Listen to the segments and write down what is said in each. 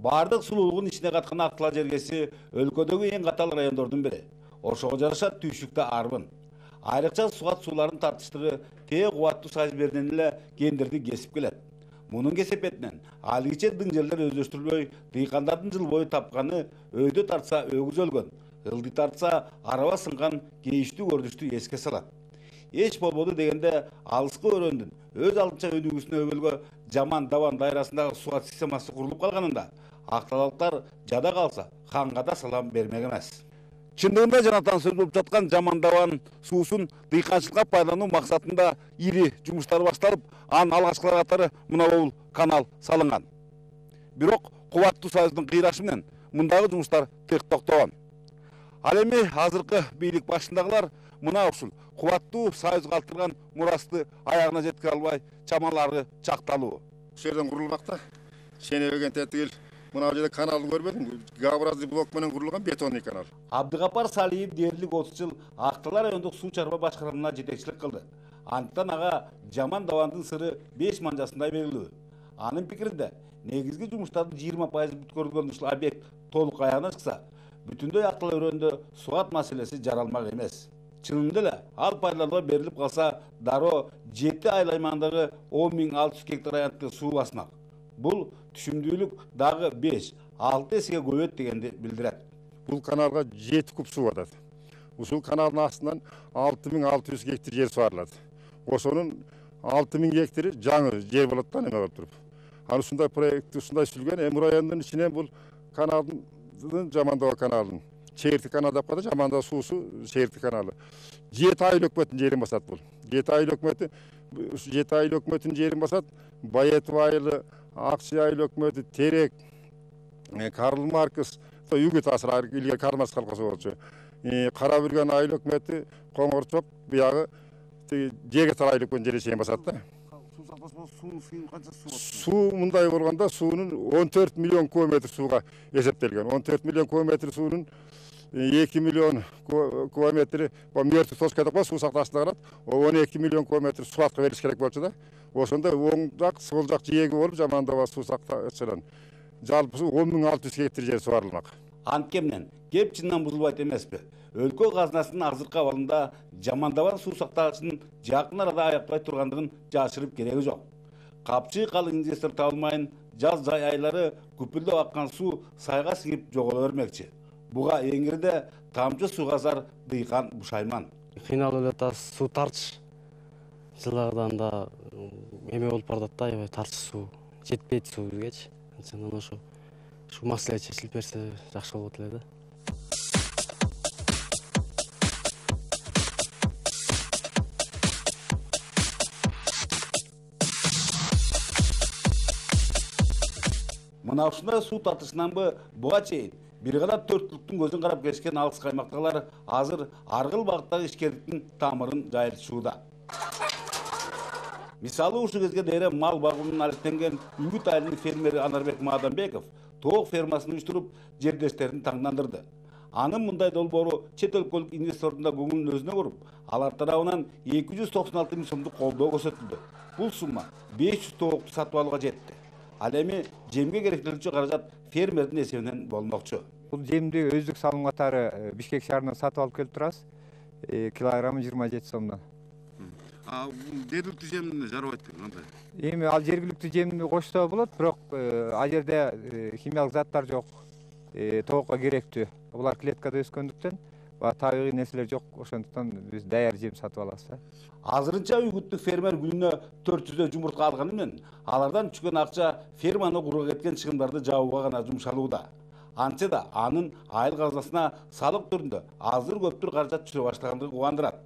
Бардык сулуулугун ичине каткан Ак-Тала жергеси өлкөдөгү эң катал райондордун бири. Ошого жараша түйшүктө арбын. Айрыкча сугат сууларын тартыштыгы тээ кубаттуу сайыз беренен эле кендирди кесип келет. Мунун кесепетинен алгыче дың жерлер өздөштүрүлбөй, дыйкандардын жыл бою тапканы өйдө тартса өгүз өлгөн, ылдый тартса араба сынган кейиштүү көрүнүштү эске салат. Эч болбоду дегенде алыскы өрөөндүн өз алдынча өнүгүүсүнө өбөлгө Жаман Даван дайрасындагы сугат системасы курулуп калганында Ак-Талалыктар жада калса ханга да салам бермек эмес. Чындыгында жанатан сөз болуп жаткан Жаман Даван суусун дыйканчылыкка пайдалануу максатында ири жумуштар башталып, анын алгачкылары катары мына бул канал салынган. Бирок кубаттуу сайыздын кыйрашы менен мындагы жумуштар тек токтогон. Ал эми азыркы бийлик башындагылар мына ушул кубаттуу сайыз калтырган мурасты аягына жеткире албай чамалары чакталуу. Ушул жерден курулмак да. Ченебеген тетигил. Мына жерде каналды көрбөдүң? Г-образный блок менен курулган бетонный канал. Абдыгапар Салиев дээрлик 30 жыл Ак-Тала райондук суу чарба башкарамына жетекчилик кылды. Андыктан ага Жаман Давандын сыры 5 манжасындай белгилүү. Анын пикиринде негизги жумуштардын 20% бүткөрүлгөн ушул объект толук аягына чыкса, бүтүндөй Ак-Тала өрөөнүндө сугат маселеси жаралмак эмес. Чынында эле ал пайдаланууга берилип калса, дароо 7 айыл аймагындагы 10.600 гектар аянтты суу басмак. Бул түшүмдүүлүк дагы 5-6 эсеге көбөйөт дегенди билдирет. Бул каналга 7 куб суу батат. Ушул каналдын астынан 6600 гектар жер суарылат. Ошонун 6000 гектары жаңы жер болот да, неме болуп туруп. Аны ушундай проект ушундай сүзүлгөн. Эми райондун ичинен бул каналдын Жаман Дава каналынын Чегиртик каналы деп коет, Жаман Дава суусу Чегиртик каналы. 7 айыл өкмөтүнүн жерин басат бул. 7 айыл өкмөтү, ушу 7 айыл өкмөтүнүн жерин басат. Байетов айылы, Акчы айыл өкмөтү, Терек, Карл Маркс, Үгүт асыр илгери Карл Маркс калкасы болчу. Кара Бүргөн айыл өкмөтү, Коңорчок, буягы Жегетар айыл өкмөтүнүн жерин чейин басат да. Суу мындай болгондо суунун 14 миллион кубометр сууга эсептелген. 14 миллион кубометр суунун 2 миллион кубометри мертвый точка деп коет, суу сакташында калат. 12 миллион кубометр суатка берилиш керек болчу да. Ошондо оң жак, сол жак жээги болуп Жаман Дава суу сакташынан жалпысы 10.600 гектар жер суарылмак. Антке менен кеп чындан бузулбайт эмеспи? Өлкө казынасынын азыркы абалында Жаман Даван суу сактагычынын жакын арада аякпай тургандыгын жашырып кереги жок. Капчы калың инвестор табылмайын, жаз жай айлары күпүлдөп аккан суу сайга сиңип жоголо бермекчи. Буга эңирде тамчы сууга зар дыйкан Бушайман. Кыйналып эле атабыз, суу тарчы. Жылдардан да эме болуп баратат да, аябай тарчы суу. Жетпейт суу бизгечи. Анан ошо маселе чечилип берсе жакшы болот эле да. Мына ушундай суу тартышынан буга чейин бир гана төрттүлүктүн көзүн карап келишкен алыс каймактагылар азыр аргыл багыттагы ишкерликтин тамырын жайылтышууда. Мисалы ушул кезге дейре мал багууунан алектенген Үгүт айылынын фермери Анарбек Маданбеков тоок фермасын уюштуруп жердештерин таңдандырды. Анын мындай долбоору чет өлкөлүк инвестордун да көңүлүн өзүнө буруп, алар тарабынан 296 миң сомдук колдоо көрсөтүлдү. Бул сумма 500 тоокту сатып алууга жетти. Ал эми жемге керектелүүчү каражат фермердин эсебинен болмокчу. Бул жемди өздүк салым катары Бишкек шаарынан сатып алып келип турабыз. Килограммы 27 сомдон. Жергиликтүү жем жарабайт деген кандай? Эми ал жергиликтүү жемди кошсо болот, бирок ал жерде химиялык заттар жок, тоокко керектүү. Булар клеткада өскөндүктөн табигый нерселер жок, ошондуктан биз даяр жем сатып алабыз. Азырынча Үгүттүк фермер күнүнө 400 жумуртка алганы менен алардан түшкөн акча ферманы курууга кеткен чыгымдарды жабууга гана жумшалууда. Антсе да анын айыл казынасына салык түрүндө азыр көптүр каражат түшө баштагандыгы кубандырат.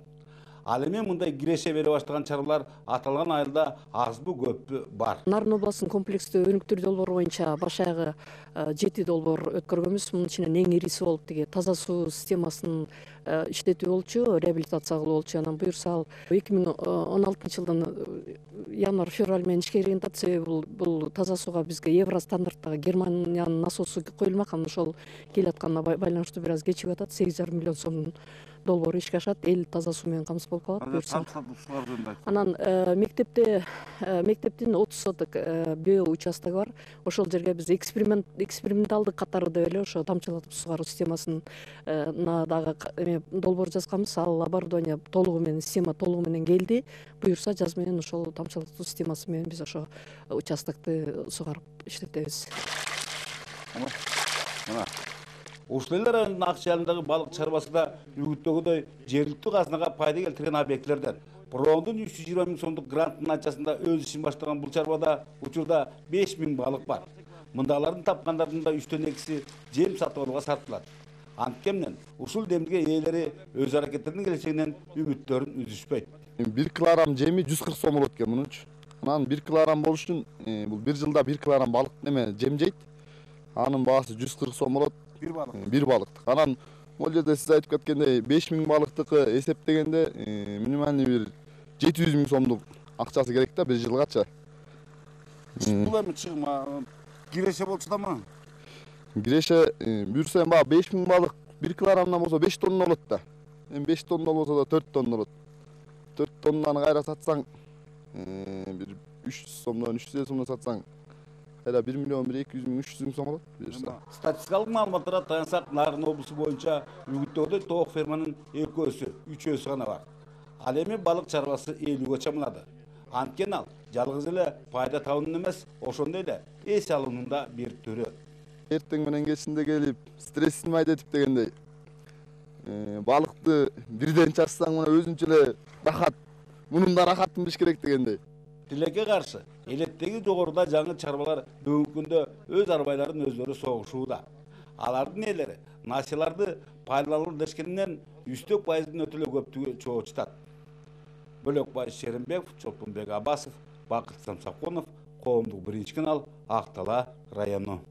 Ал эми мындай киреше бере баштаган чаралар аталган айылда азбы көппү бар. Нарын областынын комплекстүү өнүктүрүү долбоору боюнча баш аягы 7 долбоор өткөргөнбүз. Мунун ичинен эң ириси болуп тиги таза суу системасын иштетүү болчу, реабилитация кылуу болчу. Анан буюрса ал 2016 жылдын январь-февраль менен ишке киргенден себеби бул таза сууга бизге евро стандарттагы Германиянын насосу коюлмак. Анан ошол келатканына байланыштуу бир аз кечигип атат. 8,5 миллион сомдун долбоору ишке ашат. Эл таза суу менен камсыз болуп калат. Буюрса анан мектептин 30 соток био участогу бар. Ошол жерге биз эксперименталдык катары деп эле ошо тамчылатып сугаруу системасына дагы долбоор жазганбыз. Ал оборудование толугу менен, система толугу менен келди. Буюрса жаз менен ошол тамчылатуу системасы менен биз ошо участокты сугарып иштетебиз. Мына ушул эле райондун Ак Шайлындагы балык чарбасы да үгүттөгүдөй жергиликтүү казынага пайда келтирген объектилерден. Брондун 320 000 сомдук гранттын ачасында өз ишин баштаган бул чарбада учурда 5 000 балык бар. Мындагылардын тапкандардын да 3төн 2си жем сатып алууга сарпталат. Анткени ушул демге ээлери өз аракеттеринин келечегинен үмүттөрүн үзүшпөйт. 1 килограмм жеми 140 сом болот экен мунунчу. Анан 1 килограмм болуш үчүн бул 1 жылда 1 килограмм балык жем жейт. Анын баасы 140 сом болот. Bir balıktыk. Анан ол жерде сиз айтып кеткендей 5 000 балыктыкы эсептегенде минимальный бир 700 000 сомдук акчасы керек да 1 жылгача. Бул эми чыгма киреше болчу да ма? Киреше бүрсем баа 5 000 балык 1 килограммдан болсо 5 тонна болот да. Эми 5 тонна болсо да 4 тонна болот. 4 тоннаны кайра сатсаң бир 300 сомдон 350 сомдон сатсаң кайра 1 миллион 200 000 300 000 сом болот. Статистикалык маалыматтарга таянсак, Нарын облусу боюнча үгүттөгүдөй тоок ферманын 2-3 гана бар. Ал эми балык чарбасы 50ге чамалады. Анткени ал жалгыз эле пайда табуунун эмес, ошондой эле эс алуунун да бир түрү. Эртең менен кечинде келип стрессин майдетип дегендей балыкты бирден чачсаң мына өзүнчө эле рахат, мунун да рахатын билиш керек дегендей. Тилекке каршы элеттеги жогоруда жаңы чарбалар бүгүнкү күндө өз арбайларын өздөрү согушууда. Алардын ээлери насыяларды пайдалануу дешкенинен 3% өтө эле көптүгү чоочутат. Бөлөкбай Шеримбеков, Чолпонбек Абасов, Бакыт Самсаконов, Коомдук 1 канал, Ак Дала району.